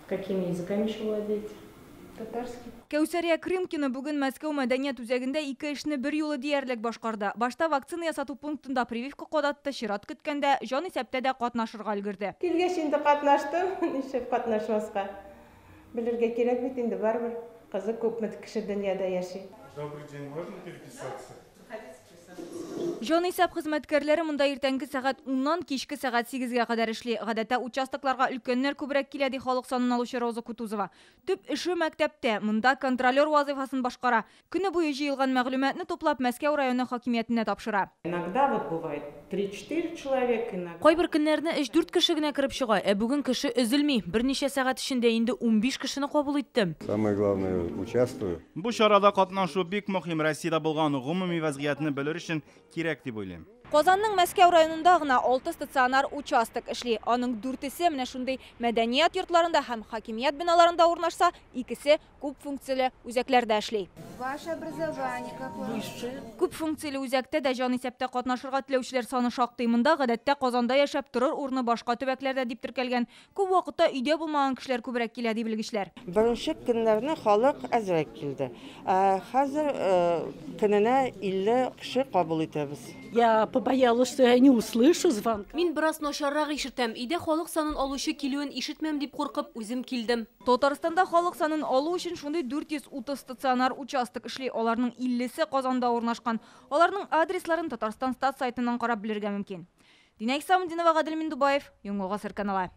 Какими языками еще владеете? Татарский. Кәүсәрия Крымкина бүген Мәскәү мәдәният үзәгендә ике эшне бер юлы диярлек башкарды. Башта вакцина ясату пунктында прививка кадатты, чират көткәндә җанисәптә дә катнашырга өлгерде. Килгәч инде катнаштым, нишләп катнашмаска? Белергә кирәк бит инде барыбер. Кызык, күпме кеше дөньяда яши. Добрый день, можно переписаться? Җанисәп хезмәткәрләре монда иртәнге сәгать 10-нан кичке сәгать 8-гә кадәр эшли. Гадәттә участокларга өлкәннәр күбрәк килә, ди халык санын алучы Роза Кутузова. Төп эше мәктәптә, монда контролер вазыйфасын башкара. Көне буе җыелган мәгълүматны туплап Мәскәү районы хакимиятенә тапшыра. Иногда вот бывает 3-4 человека, иногда. Кайбер көннәрне 3-4 кеше генә кереп чыга, ә бүген кеше өзелми. Берничә сәгать эчендә инде 15 кешене кабул иттем. Самое главное, участвую. Бу чарада катнашу бик мөһим. Россиядә булган гомуми вазгыятьне белер өчен кирәк дип уйлыйм. Казанның Мәскәү районында гына 6 стационар участок эшли. Аның 4-се менә шундый мәдәният йортларында һәм хакимият биналарында урнашса, 2-се күп функцияле үзәкләрдә эшли. Ваше образование какое? Высшее. Күп функцияле үзәктә дә җанисәптә катнашырга теләүчеләр саны шактый. Монда гадәттә Казанда яшәп торыр урыны башка төбәкләрдә дип теркәлгән. Күп вакытта өйдә булмаган кешеләр күбрәк килә, ди белгечләр. Беренче көннәрне халык әзрәк килде. Хәзер көненә 50 кеше кабул итәбез. Я побоялась, что я не услышу звонка. Мин бераз начаррак ишетәм. Өйдә халык санын алучы килүен ишетмәм дип куркып, үзем килдем. Татарстанда халык санын алу өчен шундый 430 стационар участок эшли. Аларның 50-се Казанда урнашкан. Аларның адресларын Татарстан стат сайтыннан карап белергә мөмкин. Динә Исламдинова, Гадел Миндубаев, Яңа Гасыр каналы.